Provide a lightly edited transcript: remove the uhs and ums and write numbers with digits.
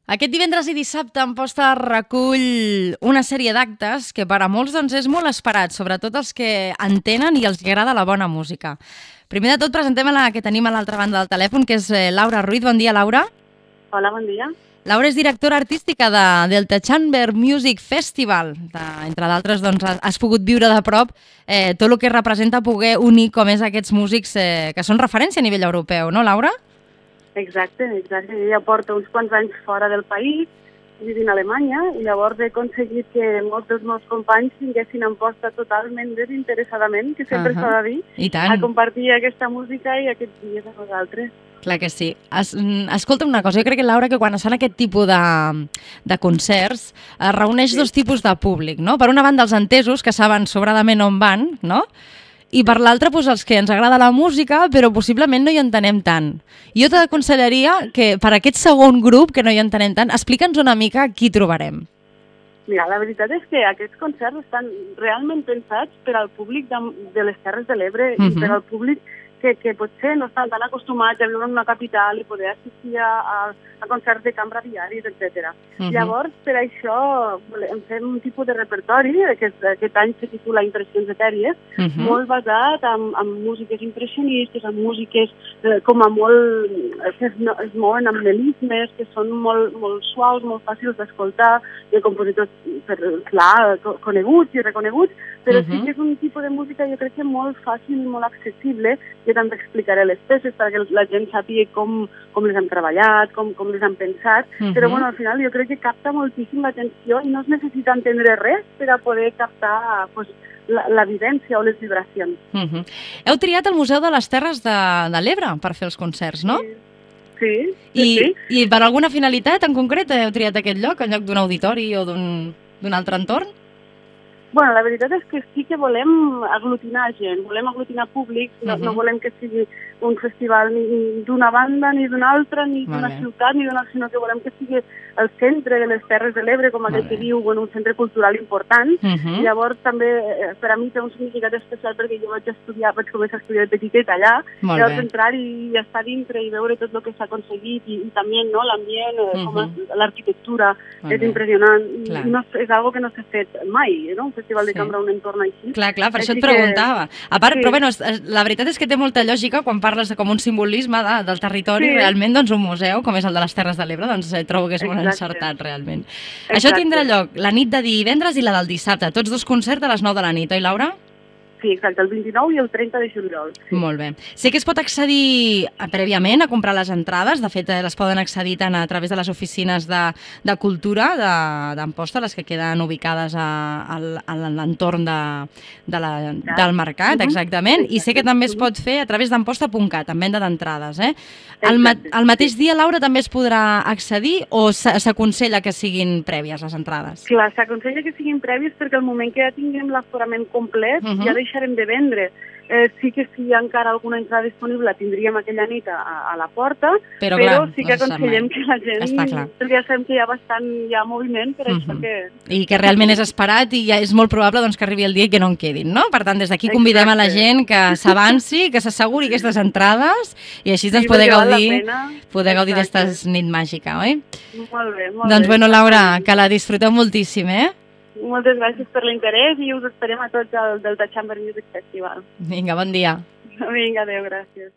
Aquest divendres i dissabte Amposta recull una sèrie d'actes que per a molts és molt esperat, sobretot els que entenen i els que agrada la bona música. Primer de tot presentem a la que tenim a l'altra banda del telèfon, que és Laura Ruiz. Bon dia, Laura. Hola, bon dia. Laura és directora artística de Delta Chamber Music Festival. Entre d'altres, has pogut viure de prop tot el que representa poder unir com és aquests músics que són referència a nivell europeu, no, Laura? Exacte. Jo ja porto uns quants anys fora del país, vivint a Alemanya, i llavors he aconseguit que molts dels meus companys tinguessin Amposta totalment desinteressadament, que sempre s'ha de dir, a compartir aquesta música i aquests dies amb nosaltres. Clar que sí. Escolta'm una cosa, jo crec que, Laura, que quan es fan aquest tipus de concerts es reuneix dos tipus de públic, no? Per una banda, els entesos, que saben sobradament on van, no? I per l'altra, els que ens agrada la música, però possiblement no hi entenem tant. Jo t'aconsellaria que per aquest segon grup, que no hi entenem tant, explica'ns una mica qui trobarem. Mira, la veritat és que aquests concerts estan realment pensats per al públic de les Terres de l'Ebre i per al públic que potser no estan tan acostumats a viure en una capital i poder assistir a concerts de cambra diaris, etc. Llavors, per això hem fet un tipus de repertori, que aquest any se titula Impressions etèries, molt basat en músiques impressionistes, en músiques com a molt... que es mouen amb melismes, que són molt suaus, molt fàcils d'escoltar, de compositors, clar, coneguts i reconeguts, però sí que és un tipus de música, jo crec que molt fàcil i molt accessible. Jo també explicaré les peces perquè la gent sàpiga com les han treballat, com les han pensat, però al final jo crec que capta moltíssim l'atenció i no es necessita entendre res per a poder captar la vivència o les vibracions. Heu triat el Museu de les Terres de l'Ebre per fer els concerts, no? Sí. I per alguna finalitat en concret heu triat aquest lloc, en lloc d'un auditori o d'un altre entorn? Bueno, la veritat és que sí que volem aglutinar gent, volem aglutinar públics, no volem que sigui un festival ni d'una banda, ni d'una altra, ni d'una ciutat, sinó que volem que sigui el centre de les Terres de l'Ebre, com aquell que diu, un centre cultural important. Llavors també per a mi té un significat especial perquè jo vaig començar a estudiar de petiteta allà, llavors entrar i estar dintre i veure tot el que s'ha aconseguit i també l'ambient, l'arquitectura, és impressionant. És algo que no s'ha fet mai, no? Festival de cambra, un entorn així. Clar, per això et preguntava. A part, però bueno, la veritat és que té molta lògica quan parles de com un simbolisme del territori, realment un museu, com és el de les Terres de l'Ebre, trobo que és molt encertat, realment. Això tindrà lloc la nit de divendres i la del dissabte, tots dos concerts a les 9 de la nit, oi, Laura? Sí, exacte, el 29 i el 30 de juliol. Molt bé. Sé que es pot accedir prèviament a comprar les entrades, de fet les poden accedir tant a través de les oficines de cultura d'Amposta, les que queden ubicades a l'entorn del mercat, exactament, i sé que també es pot fer a través d'amposta.cat, amb venda d'entrades. El mateix dia, Laura, també es podrà accedir o s'aconsella que siguin prèvies les entrades? Clar, s'aconsella que siguin prèvies perquè al moment que ja tinguem l'aforament complet ja deixarem de vendre. Sí que si hi ha encara alguna entrada disponible la tindríem aquella nit a la porta, però sí que aconsellem que la gent... Perquè ja sabem que hi ha bastant moviment per això que... I que realment és esperat i ja és molt probable que arribi el dia i que no en quedin, no? Per tant, des d'aquí convidem a la gent que s'avanci, que s'asseguri aquestes entrades i així poder gaudir d'aquesta nit màgica, oi? Molt bé, molt bé. Doncs bueno, Laura, que la disfruteu moltíssim, Moltes gràcies per l'interès i us esperem a tots al Delta Chamber Music Festival. Vinga, bon dia. Vinga, adéu, gràcies.